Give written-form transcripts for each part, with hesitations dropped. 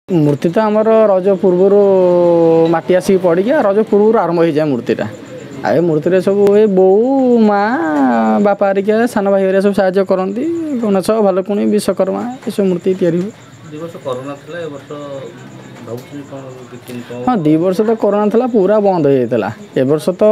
ମୂର୍ତ୍ତି ତ ଆମର ରଜ ପୂର୍ବରୁ ମାଟି ଆସିକି ପଡ଼ିକି ଆଉ ରଜ ପୂର୍ବରୁ ଆରମ୍ଭ ହେଇଯାଏ ମୂର୍ତ୍ତିଟା। ଆଉ ଏ ମୂର୍ତ୍ତିରେ ସବୁ ଏ ବୋଉ, ମା, ବାପା ହେରିକା, ସାନ ଭାଇ ହେରିକା ସବୁ ସାହାଯ୍ୟ କରନ୍ତି। ଗଣେଶ, ଭାଲୁକୁଣି, ବିଶ୍ୱକର୍ମା ଏସବୁ ମୂର୍ତ୍ତି ତିଆରି ହୁଏ। 2 ବର୍ଷ କରୋନା ଥିଲା, ଏ ବର୍ଷ ଭାବୁଛନ୍ତି କ'ଣ କିଛି ଇନକମ୍? ହଁ, 2 ବର୍ଷ ତ କରୋନା ଥିଲା, ପୁରା ବନ୍ଦ ହେଇଯାଇଥିଲା। ଏ ବର୍ଷ ତ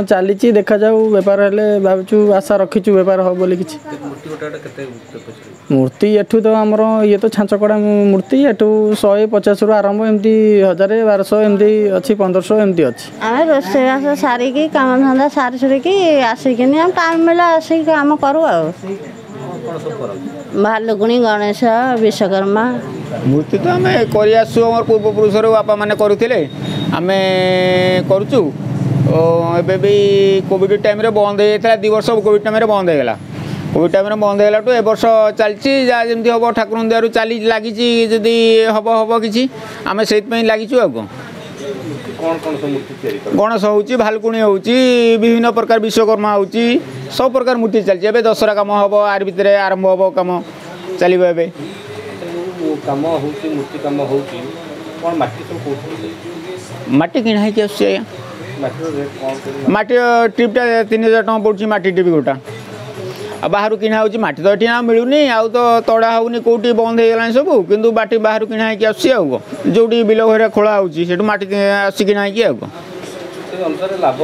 ଚାଲିଛି, ଦେଖାଯାଉ ବେପାର ହେଲେ ଭାବୁଛୁ, ଆଶା ରଖିଛୁ ବେପାର ହେବ ବୋଲି କିଛି। ମୂର୍ତ୍ତି ଗୋଟେ ଗୋଟେ କେତେ ପଇସା? ମୂର୍ତ୍ତି ଏଠୁ ତ ଆମର ଇଏ ତ ଛାଞ୍ଚ କଡ଼ା ମୂର୍ତ୍ତି, ଏଠୁ 150ରୁ ଆରମ୍ଭ, ଏମିତି 1000, 1200 ଏମିତି ଅଛି, 1500 ଏମିତି ଅଛି। ଆମେ ରୋଷେଇବାସ ସାରିକି, କାମଧନ୍ଦା ସାରି ସୁରିକି ଆସିକିନି ଆମେ ଟାଇମ୍ ମିଳିଲା ଆସିକି କାମ କରୁ। ଆଉ କ'ଣ ସବୁ କରନ୍ତି? ଭାଲୁକୁଣି, ଗଣେଶ, ବିଶ୍ୱକର୍ମା ମୂର୍ତ୍ତି ତ ଆମେ କରି ଆସୁଛୁ। ଆମର ପୂର୍ବପୁରୁଷରୁ ବାପାମାନେ କରୁଥିଲେ, ଆମେ କରୁଛୁ। ଏବେ ବି କୋଭିଡ଼ ଟାଇମ୍ରେ ବନ୍ଦ ହେଇଯାଇଥିଲା। 2 ବର୍ଷ କୋଭିଡ଼ ଟାଇମ୍ରେ ବନ୍ଦ ହେଇଗଲା। କୋଭିଡ଼ ଟାଇମ୍ରେ ବନ୍ଦ ହେଇଗଲାଠୁ ଏ ବର୍ଷ ଚାଲିଛି। ଯାହା ଯେମିତି ହେବ ଠାକୁରଙ୍କ ଦୟାରୁ ଚାଲି ଲାଗିଛି, ଯଦି ହେବ ହେବ କିଛି, ଆମେ ସେଇଥିପାଇଁ ଲାଗିଛୁ। ଆଉ କ'ଣ କ'ଣ କ'ଣ ସବୁ ମୂର୍ତ୍ତି ତିଆରି କରନ୍ତି? ଗଣେଶ ହେଉଛି, ଭାଲୁକୁଣି ହେଉଛି, ବିଭିନ୍ନ ପ୍ରକାର ବିଶ୍ୱକର୍ମା ହେଉଛି, ସବୁ ପ୍ରକାର ମୂର୍ତ୍ତି ଚାଲିଛି। ଏବେ ଦଶହରା କାମ ହେବ, ଆରି ଭିତରେ ଆରମ୍ଭ ହେବ, କାମ ଚାଲିବ ଏବେ। ଯୋଉ କାମ ହେଉଛି, ମୂର୍ତ୍ତି କାମ ହେଉଛି, କ'ଣ ମାଟି ସବୁ କେଉଁଠୁ? ମାଟି କିଣା ହେଇକି ଆସୁଛି ଆଜ୍ଞା। ମାଟିର ରେଟ୍ କ'ଣ କେମିତି? ମାଟି ଟ୍ରିପ୍ଟା 3000 ଟଙ୍କା ପଡ଼ୁଛି, ମାଟି ଟ୍ରିପ୍ ଗୋଟା। ଆଉ ବାହାରୁ କିଣା ହେଉଛି ମାଟି ତ ଏଠି ଆଉ ମିଳୁନି, ଆଉ ତ ତଡ଼ା ହେଉନି କେଉଁଠି, ବନ୍ଦ ହେଇଗଲାଣି ସବୁ। କିନ୍ତୁ ମାଟି ବାହାରୁ କିଣା ହେଇକି ଆସୁଛି। ଆଉ କ'ଣ, ଯେଉଁଠି ବିଲ ଘରେ ଖୋଳା ହେଉଛି ସେଠୁ ମାଟି ଆସୁଛି କିଣା ହେଇକି। ଆଉ କ'ଣ, ସେଇ ଅନୁସାରେ ଲାଭ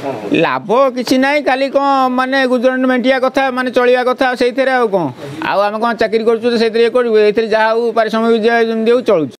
କ'ଣ ହେଉଛି? ଲାଭ କିଛି ନାହିଁ, ଖାଲି କ'ଣ ମାନେ ଗୁଜୁରାଣ ମେଣ୍ଟିବା କଥା, ମାନେ ଚଳିବା କଥା ସେଇଥିରେ। ଆଉ କ'ଣ, ଆଉ ଆମେ କ'ଣ ଚାକିରି କରୁଛୁ ତ ସେଇଥିରେ ଇଏ କରିବୁ? ଏଇଥିରେ ଯାହା ହଉ ପାରିଶ୍ରମିକ ଯେମିତି ହଉ ଚଳୁଛୁ।